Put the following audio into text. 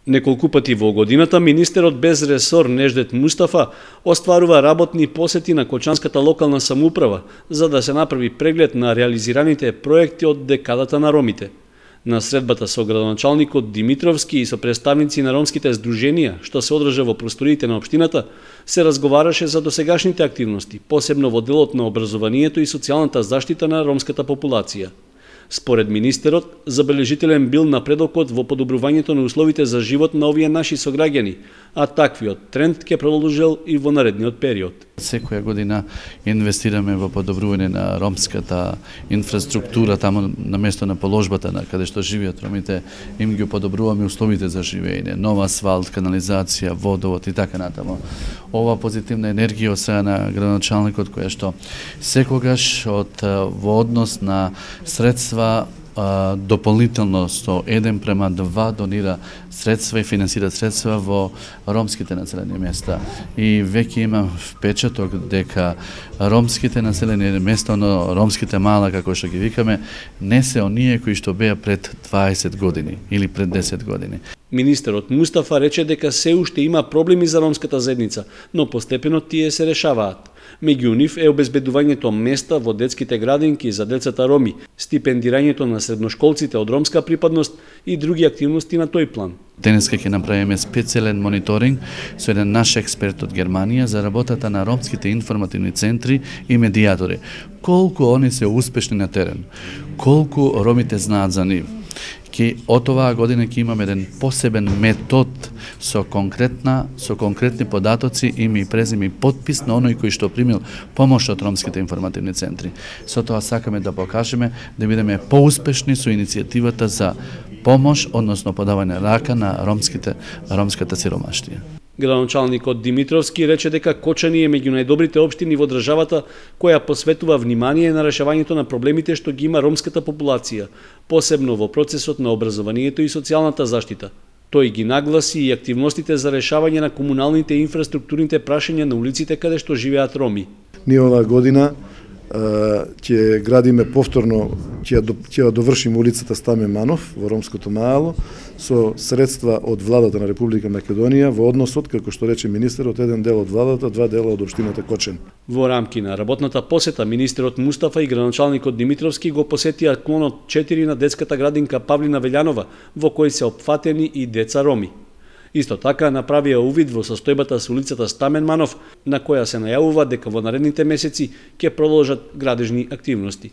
Неколку пати во годината министерот без ресор Неждет Мустафа остварува работни посети на Кочанската локална самоуправа за да се направи преглед на реализираните проекти од декадата на ромите. На средбата со градоначалникот Димитровски и со представници на ромските здруженија, што се одржа во просториите на општината, се разговараше за досегашните активности, посебно во делот на образованието и социјалната заштита на ромската популација. Според министерот, забележителен бил напредокот во подобрувањето на условите за живот на овие наши сограѓани, а таквиот тренд ќе продолжел и во наредниот период. Секоја година инвестираме во подобрување на ромската инфраструктура таму на место на положбата на каде што живеат ромите, им ги подобруваме условите за живење, нова асфалт, канализација, водовод и така натаму. Ова позитивна енергија од страна на градоначалникот која што секогаш во однос на средства дополнително со 1:2 донира средства и финансира средства во ромските населени места. И веќе има впечаток дека ромските населени места, но ромските мала, како што ги викаме, не се оние кои што беа пред 20 години или пред 10 години. Министерот Мустафа рече дека се уште има проблеми за ромската заедница, но постепено тие се решаваат. Меѓу нив е обезбедувањето места во детските градинки за децата роми, стипендирањето на средношколците од ромска припадност и други активности на тој план. Денеска ќе направиме специјален мониторинг со еден наш експерт од Германија за работата на ромските информативни центри и медијатори. Колку они се успешни на терен, колку ромите знаат за нив. Од оваа година ќе имаме еден посебен метод со конкретни податоци, име и презиме и подпис на оној кој што примил помош од ромските информативни центри. Со тоа сакаме да покажеме да бидеме поуспешни со иницијативата за помош, односно подавање рака на ромската сиромаштија. Градоначалникот Димитровски рече дека Кочани е меѓу најдобрите општини во државата која посветува внимание на решавањето на проблемите што ги има ромската популација, посебно во процесот на образованието и социјалната заштита. Тој ги нагласи и активностите за решавање на комуналните и инфраструктурните прашања на улиците каде што живеат роми. Ние оваа година ќе градиме повторно, ќе довршиме улицата Стамен Манов во ромското мало со средства од владата на Република Македонија во односот, како што рече министерот, еден дел од владата, 2 дела од општината Кочани. Во рамки на работната посета, министерот Мустафа и градоначалникот Димитровски го посетија клонот 4 на детската градинка Павлина Велјанова, во кој се опфатени и деца роми. Исто така направија увид во состојбата со улицата Стамен Манов, на која се најавува дека во наредните месеци ќе продолжат градежни активности.